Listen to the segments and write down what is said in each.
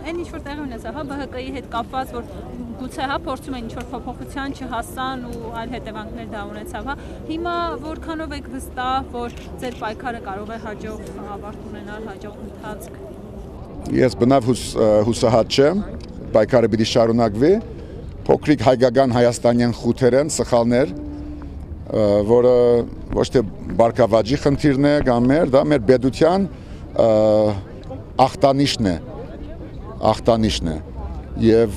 Այն ինչ որ տեղի ունեցավ, հա ԲՀԿ-ի հետ կապված, որ գուցե հա փորձում են ինչ որ փոփոխության չհասան ու այլ հետևանքներ դա ունեցավ, հա։ Հիմա որքանով եք վստահ, որ ձեր պայքարը կարող է հաջող ավարտ ունենալ, հաջող ընթացք։ Ես բնավ հուսահատ չեմ, պայքարը պիտի շարունակվի, փոքրիկ հայկական հայաստանյան խութեր են, սխալներ, որը ոչ թե բարգավաճի խնդիրն է կամ դա մեր պետության ախտանիշն է եւ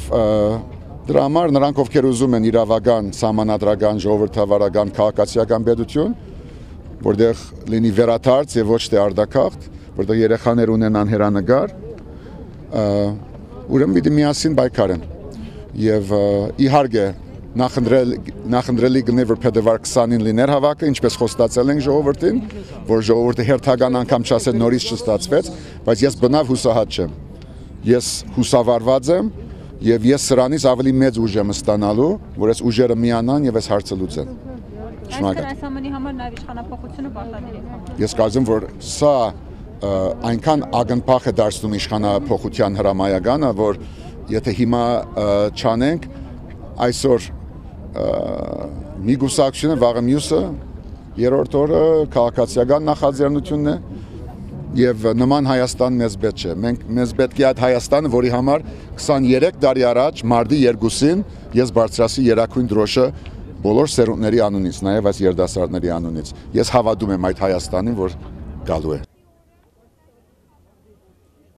դրա համար նրանք ովքեր ուզում են իրավական, սահմանադրական, ժողովրդավարական, քաղաքացիական պետություն, որտեղ լինի վերաթարց եւ ոչ թե արդակաղթ, որտեղ երեխաներ ունենան հերանեկար, ուրեմն պիտի միասին պայքարեն եւ իհարկե նախընտրելի գնե որ փետրվար 20-ին լիներ հավաքը, ինչպես խոստացել ենք ժողովրդին, որ ժողովուրդը հերթական անգամ չասել նորից չստացվեց, բայց ես բնավ հուսահատ չեմ։ Ես հուսավարված եմ եւ ես սրանից ավելի մեծ ուժ եմ ստանալու, որ այս ուժերը միանան եւ այս հարցը լուծեն։ Շնորհակալ։ Այս ամենի համար նաեւ իշխանապողությունը պարտադիր է։ Ես կարծում որ սա այնքան ակնփախ է դարձնում իշխանապողության հրամայականը, որ եթե հիմա չանենք, այսօր մի գուսակցությունը վաղը մյուսը երրորդ օրը քաղաքացիական նախաձեռնությունն է եւ նման Հայաստան մեզ պետք չէ։ Մեզ պետք է այդ Հայաստանը, որի համար 23 տարի առաջ մարտի 2-ին ես բարձրացի երակույն դրոշը բոլոր սերունդների անունից, նաեւ այս երդասարտների անունից։ Ես հավատում եմ այդ Հայաստանին, որ գալու է։